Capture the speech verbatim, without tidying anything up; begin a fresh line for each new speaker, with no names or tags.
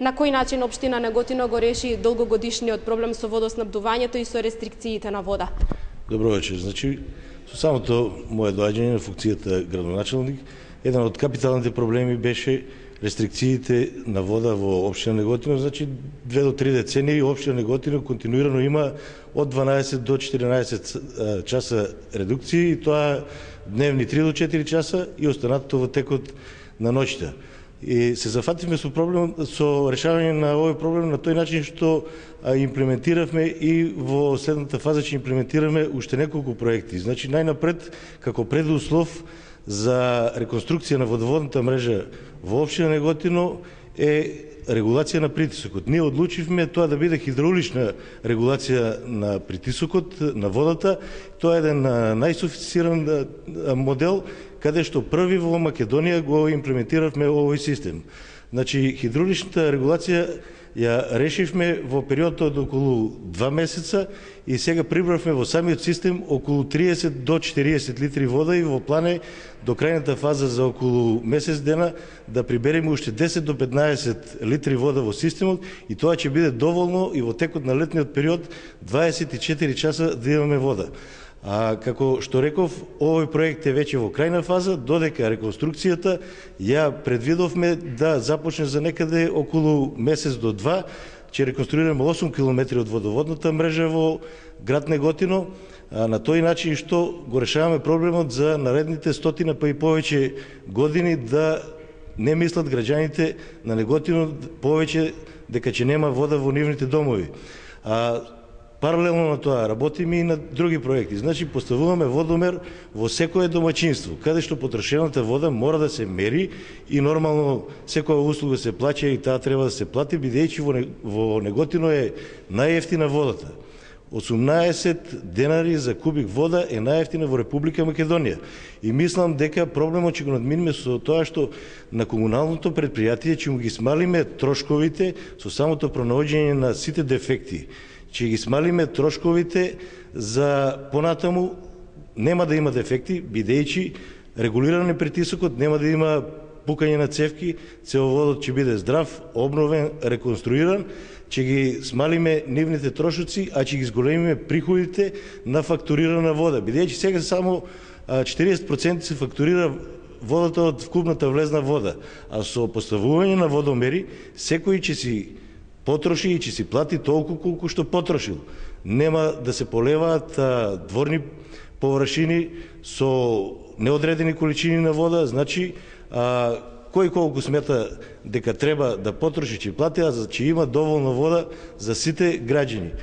На кој начин општина Неготино го реши долгогодишниот проблем со водоснабдувањето и со рестрикциите на вода?
Добро вечер. Значи, со самото мое доаѓање на функцијата градоначелник, еден од капиталните проблеми беше рестрикциите на вода во општина Неготино. Значи, две до три децении општина Неготино континуирано има од дванаесет до четиринаесет часа редукции, и тоа дневни три до четири часа и останатото во текот на ноќта. И се зафативме со проблем, со решавање на овој проблем на тој начин што имплементиравме и во следната фаза ќе имплементираме уште неколку проекти. Значи, најнапред, како предуслов за реконструкција на водоводната мрежа во општина Неготино е регулација на притисокот. Ние одлучивме тоа да биде хидраулична регулација на притисокот на водата. Тоа е еден најсофистициран модел, каде што први во Македонија го имплементиравме овој систем. Значи, хидрауличната регулација ја решивме во период од околу два месеца и сега прибравме во самиот систем околу триесет до четириесет литри вода, и во план е до крајната фаза за околу месец дена да прибереме уште десет до петнаесет литри вода во системот, и тоа ќе биде доволно и во текот на летниот период дваесет и четири часа да имаме вода. А како што реков, овој проект е веќе во крајна фаза, додека реконструкцијата ја предвидовме да започне за некаде околу месец до два. Ќе реконструираме осум километри од водоводната мрежа во град Неготино, а на тој начин што го решаваме проблемот за наредните стотина па и повеќе години, да не мислат граѓаните на Неготино повеќе дека ќе нема вода во нивните домови. А паралелно на тоа работиме и на други проекти. Значи, поставуваме водомер во секое домаќинство, каде што потрошената вода мора да се мери, и нормално секоја услуга се плаќа и таа треба да се плати, бидејќи во, во Неготино е најевтина водата. осумнаесет денари за кубик вода е најевтина во Република Македонија. И мислам дека проблемот ќе го надминиме со тоа што на комуналното предпријатие ќе му ги смалиме трошковите со самото пронаоѓање на сите дефекти. Ќе ги смалиме трошковите за понатаму, нема да има дефекти, бидејќи регулиран е притисокот, нема да има пукање на цевки, цевоводот ќе биде здрав, обновен, реконструиран, ќе ги смалиме нивните трошоци, а ќе ги зголемиме приходите на фактурирана вода, бидејќи сега само четириесет проценти се фактурира водата од вкупната влезна вода, а со поставување на водомери секој ќе си потроши и ќе си плати толку колку што потрошил. Нема да се полеваат а, дворни површини со неодредени количини на вода. Значи, а, кој колку смета дека треба да потроши, ќе плати, а за ќе има доволно вода за сите граѓани.